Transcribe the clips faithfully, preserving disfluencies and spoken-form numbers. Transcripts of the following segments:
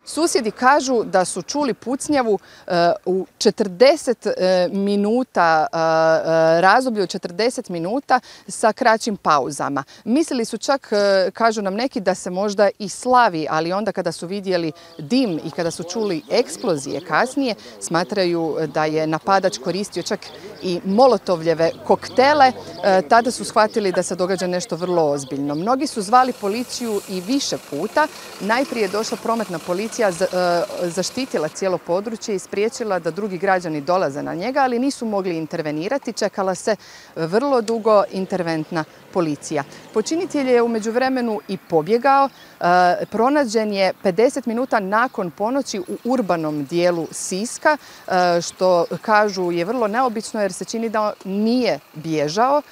Susjedi kažu da su čuli pucnjavu u četrdeset minuta, razdoblju od četrdeset minuta sa kraćim pauzama. Mislili su čak, kažu nam neki, da se možda i slavi, ali onda kada su vidjeli dim i kada su čuli eksplozije kasnije, smatraju da je napadač koristio čak i molotovljeve koktele. Tada su shvatili da se događa nešto vrlo ozbiljno. Mnogi su zvali policiju i više puta. Najprije je došla prometna policija, zaštitila cijelo područje i spriječila da drugi građani dolaze na njega, ali nisu mogli intervenirati. Čekala se vrlo dugo interventna policija. Počinitelj je u međuvremenu i pobjegao. Pronađen je pedeset minuta nakon ponoći u urbanom dijelu Siska, što kažu je vrlo neobično jer se čini da nije bježao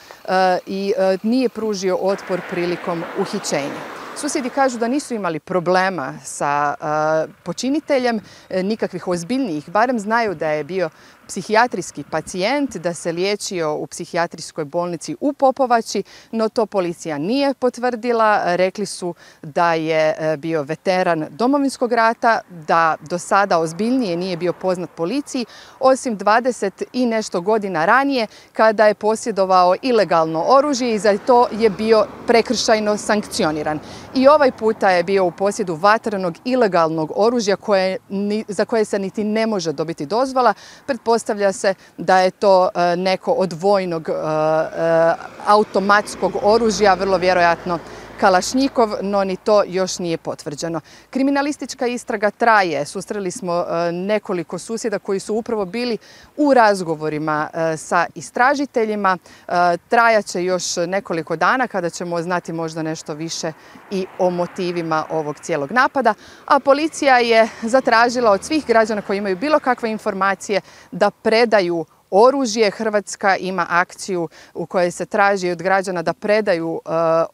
i nije pružio otpor prilikom uhićenja. Susjedi kažu da nisu imali problema sa počiniteljem, nikakvih ozbiljnijih, barem znaju da je bio psihijatrijski pacijent, da se liječio u psihijatrijskoj bolnici u Popovači, no to policija nije potvrdila. Rekli su da je bio veteran Domovinskog rata, da do sada ozbiljnije nije bio poznat policiji, osim dvadeset i nešto godina ranije kada je posjedovao ilegalno oružje i za to je bio prekršajno sankcioniran. I ovaj puta je bio u posjedu vatrenog ilegalnog oružja koje, za koje se niti ne može dobiti dozvola. Pretpostavlja se da je to neko od vojnog automatskog oružja, vrlo vjerojatno Kalašnjikov, no ni to još nije potvrđeno. Kriminalistička istraga traje. Susreli smo nekoliko susjeda koji su upravo bili u razgovorima sa istražiteljima. Trajaće još nekoliko dana kada ćemo znati možda nešto više i o motivima ovog cijelog napada. A policija je zatražila od svih građana koji imaju bilo kakve informacije da predaju oružje. Hrvatska ima akciju u kojoj se traži od građana da predaju uh,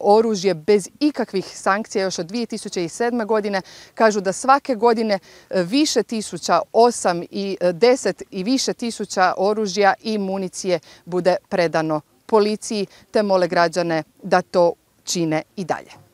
oružje bez ikakvih sankcija još od dvije tisuće sedme. godine. Kažu da svake godine više tisuća, osam i deset i više tisuća oružja i municije bude predano policiji, te mole građane da to čine i dalje.